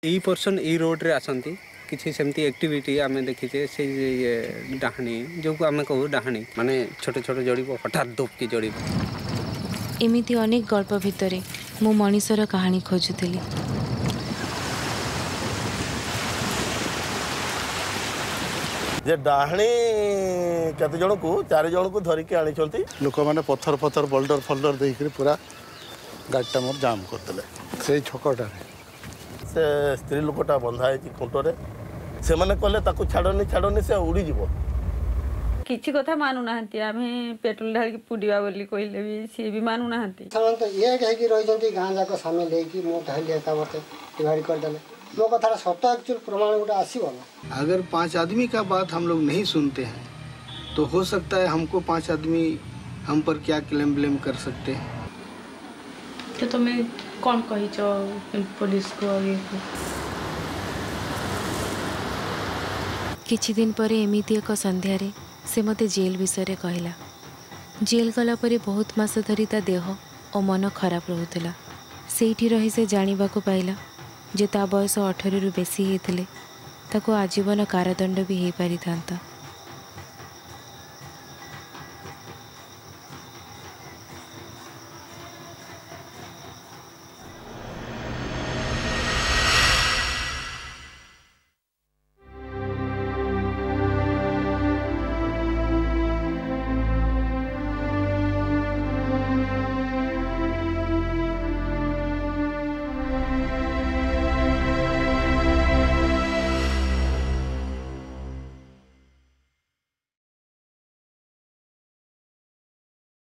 ଏଇ ପର୍ସନ୍ ଏଇ ରୋଡ଼ରେ ଆସନ୍ତି, କିଛି ସେମିତି ଆକ୍ଟିଭିଟି ଆମେ ଦେଖିଛେ। ସେଇ ଇଏ ଡାହାଣୀ ଯେଉଁକୁ ଆମେ କହୁ ଡାହାଣୀ, ମାନେ ଛୋଟ ଛୋଟ ଜଳିବ, ହଠାତ୍ ଦୋପକି ଜଳିବ। ଏମିତି ଅନେକ ଗଳ୍ପ ଭିତରେ ମୁଁ ମଣିଷର କାହାଣୀ ଖୋଜୁଥିଲି। ଯେ ଡାହାଣୀ କେତେ ଜଣକୁ, 4 ଜଣକୁ ଧରିକି ଆଣିଛନ୍ତି। ଲୋକମାନେ ପଥର ଫଥର, ବୋଲ୍ଡର ଫୋଲ୍ଡର ଦେଇକରି ପୁରା ଗାଡ଼ିଟା ମୋର ଜାମ୍ କରିଦେଲେ ସେଇ ଛକଟାରେ। ସେ ସ୍ତ୍ରୀ ଲୋକଟା ବନ୍ଧା ହେଇଛି ଖୁଣ୍ଟରେ। ସେମାନେ କହିଲେ ତାକୁ ଛାଡ଼ନି, ଛାଡ଼ନି, ସେ ଉଡ଼ିଯିବ। କିଛି କଥା ମାନୁନାହାନ୍ତି। ଆମେ ପେଟ୍ରୋଲ ଢାଳିକି ପୋଡ଼ିବା ବୋଲି କହିଲେ ବି ସିଏ ବି ମାନୁନାହାନ୍ତି। ସେମାନେ ତ ଏକ ହେଇକି ରହିଛନ୍ତି, ଗାଁ ଯାକ ସାମିଲ ହେଇକି। ମୁଁ ଧରିଲି ଏକା, ମୋତେ ଡିଭାଇଡ଼ କରିଦେଲେ। ମୋ କଥାଟା ସତ ଆକ୍ଚୁଆଲି ପ୍ରମାଣ ଗୋଟେ ଆସିବ ନା। अगर 5 आदमी का बात हम लोग नहीं सुनते हैं तो हो सकता है हमको 5 आदमी हम पर क्या क्लेम ब्लेम कर सकते हैं। ତ ତମେ କ'ଣ କହିଛ ପୋଲିସକୁ ଆଉ ଇଏକୁ? କିଛି ଦିନ ପରେ ଏମିତି ଏକ ସନ୍ଧ୍ୟାରେ ସେ ମୋତେ ଜେଲ୍ ବିଷୟରେ କହିଲା। ଜେଲ୍ ଗଲା ପରେ ବହୁତ ମାସ ଧରି ତା ଦେହ ଓ ମନ ଖରାପ ରହୁଥିଲା। ସେଇଠି ରହି ସେ ଜାଣିବାକୁ ପାଇଲା ଯେ ତା ବୟସ 18ରୁ ବେଶୀ ହେଇଥିଲେ ତାକୁ ଆଜୀବନ କାରାଦଣ୍ଡ ବି ହେଇପାରିଥାନ୍ତା।